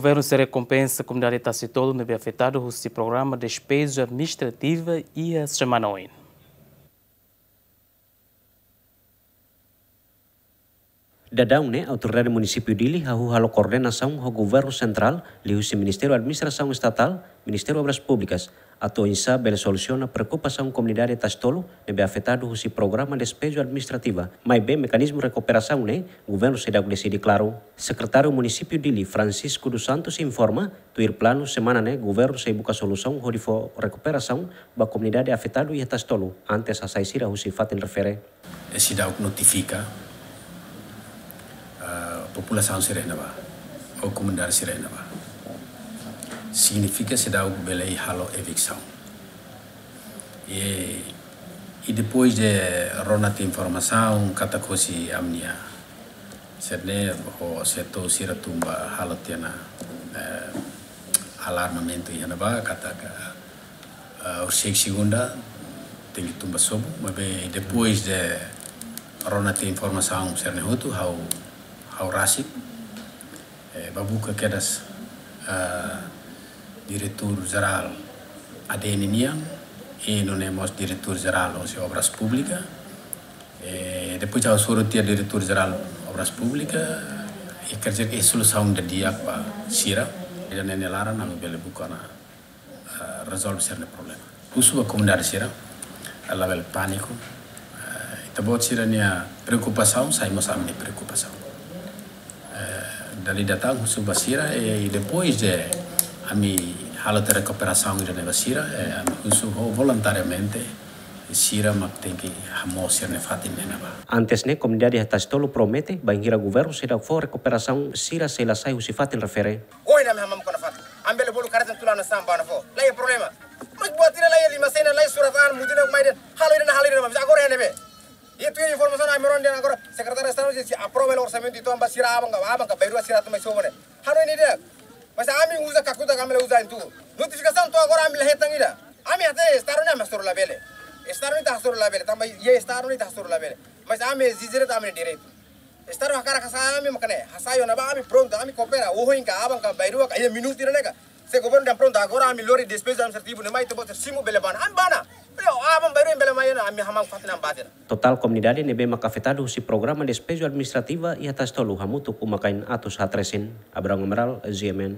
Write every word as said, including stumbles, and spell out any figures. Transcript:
Governu sei rekompensa komunidade Tasi Tolu ne'ebé afetadu husi programa despeju administrativa iha semana oin. Daudaun ne'e, Autoridade Munisípiu Dili hahú halo koordenasaun ho Governu Sentrál, liuhusi Ministériu Administrasaun Estatál, Ministériu Obras Públikas, atu oinsá bele solusiona preokupasaun komunidade Tasi Tolu ne'ebé afetadu husi programa despeju administrativa. Maibé mekanizmu rekuperasaun ne'e, governu seidauk deside klaru. Sekretáriu Munisípiu Dili, Francisco dos Santos, informa, tuir planu, semana ne'e governu sei buka solusaun hodi fó rekuperasaun ba komunidade afetadu iha Tasi Tolu, antes hasai sira husi fatin refere. E seidauk notifika, ah, populasaun sira iha ne'ebá, ou komunidade sira iha ne'ebá. Signifika seidauk bele halo eviksaun. I, i depois de rona tiha informasaun katak husi ami-nia sira-ne'e ho setór sira tun ba halo tiha ona, eh, alarmamentu iha ne'ebá katak, eh, horiseik segunda tenke tun ba sobu, maibé depois de rona tiha informasaun sira-ne'e hotu, ha'u, ha'u rasik, eh, bá buka kedas, eh, Diretór Jerál A D N nian, i nune'e mós Diretór Jerál hosi Obras Públikas. Eh, depois ha'u hasoru tiha Diretór Jerál Obras Públikas, i kerja ke solusaun di'ak ba sira. Ida-ne'e nia laran ami bele buka ona, eh, rezolve sira-nia problema. Husu ba komunidade sira, eh, labele pániku. Eh, ita-boot sira-nia preokupasaun sai mós ami-nia preokupasaun. Eh, dala ida tan husu ba sira, eh, i depois de ami halo tiha rekuperasaun ida-ne'e ba sira, eh, ami husu ho voluntariamente, sira mak tenke hamoos sira-nia fatin iha ne'ebá. Antes ne'e, komunidade iha Tasi Tolu promete, bainhira governu seidauk fó rekuperasaun, sira sei la sai husi fatin refere. Ohin ami hamamuk ona fatin. Ami bele bolu kareta tula na samba na fó. La iha problema. Mas buat ida la iha lima sena, la iha surat an, mutin na mai den. Halo ida-ne'e, halo ida-ne'e, mas agora iha ne'ebé? Ita-nia informasaun ami rona dehan agora, Sekretáriu Estadu sei aprova hela orsamentu, entaun ba sira aban ka, aban ka bainrua sira atu mai sobu ne'e. Hanoin ida. Mas ami uza kakutak, ami la uza entu. Notifikasaun to'o agora ami la hetan ida. Ami hatene Estadu ne'e ami hasoru labele. Estadu ne'e ita hasoru labele. Tanba iha Estadu ne'e ita hasoru labele. Mas ami ezije de'it ami-nia direitu. Estadu hakarak hasai ami mak ne'e. Hasai ona ba ami prontu, ami koopera. Ohin ka, aban ka, bainrua ka, iha minutu ida-ne'e ka. Se governu dehan prontu, agora ami lori despeju administrativu ne'e mai, ita-boot sira simu bele bá ona. Ami bá ona. Aban bainrua bele mai ona, ami hamamuk fatin ami bá tiha ona. Totál komunidade ne'ebé mak afetadu husi programa despeju administrativa iha Tasi Tolu hamutuk uma-kain atus haat resin. Abraham Amaral, G M N.